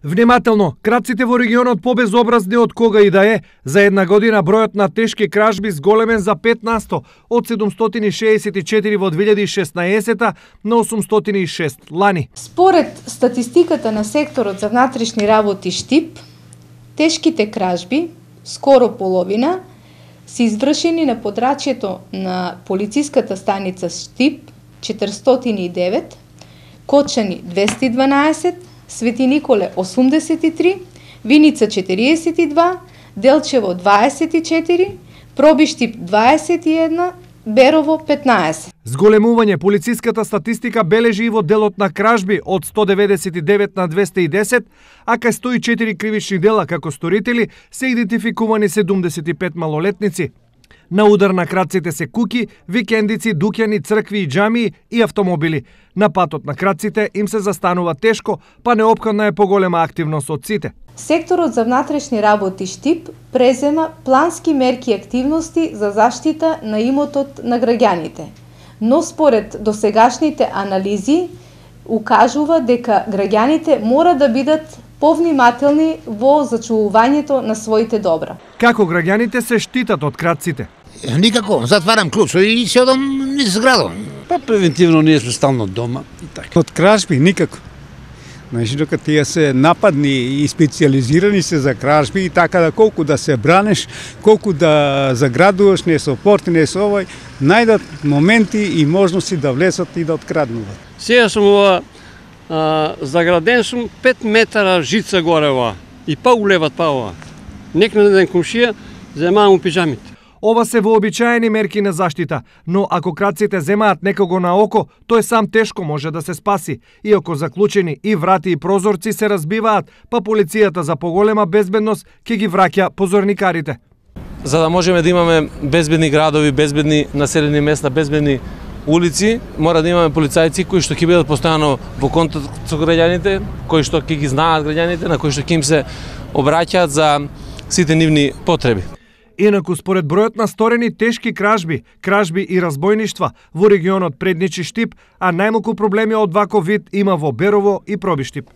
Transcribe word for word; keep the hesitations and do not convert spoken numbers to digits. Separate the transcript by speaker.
Speaker 1: Внимателно, крадците во регионот побезобразни од кога и да е. За една година бројот на тешки кражби зголемен за пет на сто, од седумстотини шеесет и четири во две илјади и шеснаесета на осумстотини и шест лани.
Speaker 2: Според статистиката на секторот за внатрешни работи Штип, тешките кражби, скоро половина, се извршени на подрачјето на полициската станица Штип четиристотини и девет, Кочани двесте и дванаесет, Свети Николе осумдесет и три, Виница четириесет и два, Делчево дваесет и четири, Пробиштип дваесет и една, Берово петнаесет.
Speaker 1: Зголемување полициската статистика бележи и во делот на кражби од сто деветдесет и девет на двесте и десет, а кај сто и четири кривични дела како сторители се идентификувани седумдесет и пет малолетници. На удар на крадците се куки, викендици, дуќани, цркви и џамии и автомобили. На патот на крадците им се застанува тешко, па неопходна е поголема активност од сите.
Speaker 2: Секторот за внатрешни работи Штип презема плански мерки и активности за заштита на имотот на граѓаните. Но според досегашните анализи укажува дека граѓаните мора да бидат повнимателни во зачувувањето на своите добра.
Speaker 1: Како граѓаните се штитат од крадците?
Speaker 3: Никако, затварам клучо и се одам низ градот.
Speaker 4: Па превентивно ние сме стално дома и така.
Speaker 5: Од кражби никако. Значи, дока тие се нападни и специализирани се за кражби и така да колку да се бранеш, колку да заградуваш, не со порти, не со овој, најдат моменти и можности да влезат и да откраднуват.
Speaker 6: Сега сум ова, а, заграден сум пет метара жица горе ова и па улеват па ова. Некна ден комшија земаам пиджамите.
Speaker 1: Ова се вообичаени мерки на заштита, но ако крадците земаат некого на око, тој сам тешко може да се спаси. Иако заклучени и врати и прозорци се разбиваат, па полицијата за поголема безбедност ќе ги враќа позорникарите.
Speaker 7: За да можеме да имаме безбедни градови, безбедни населени места, безбедни улици, мора да имаме полицајци кои што ќе бидат постојано во контакт со граѓаните, кои што ќе ги знаат граѓаните, на кои што ќе им се обраќаат за сите нивни потреби.
Speaker 1: Инаку, според бројот на сторени тешки кражби, кражби и разбојништва во регионот предничи Штип, а најмалку проблеми од ваков вид има во Берово и Пробиштип.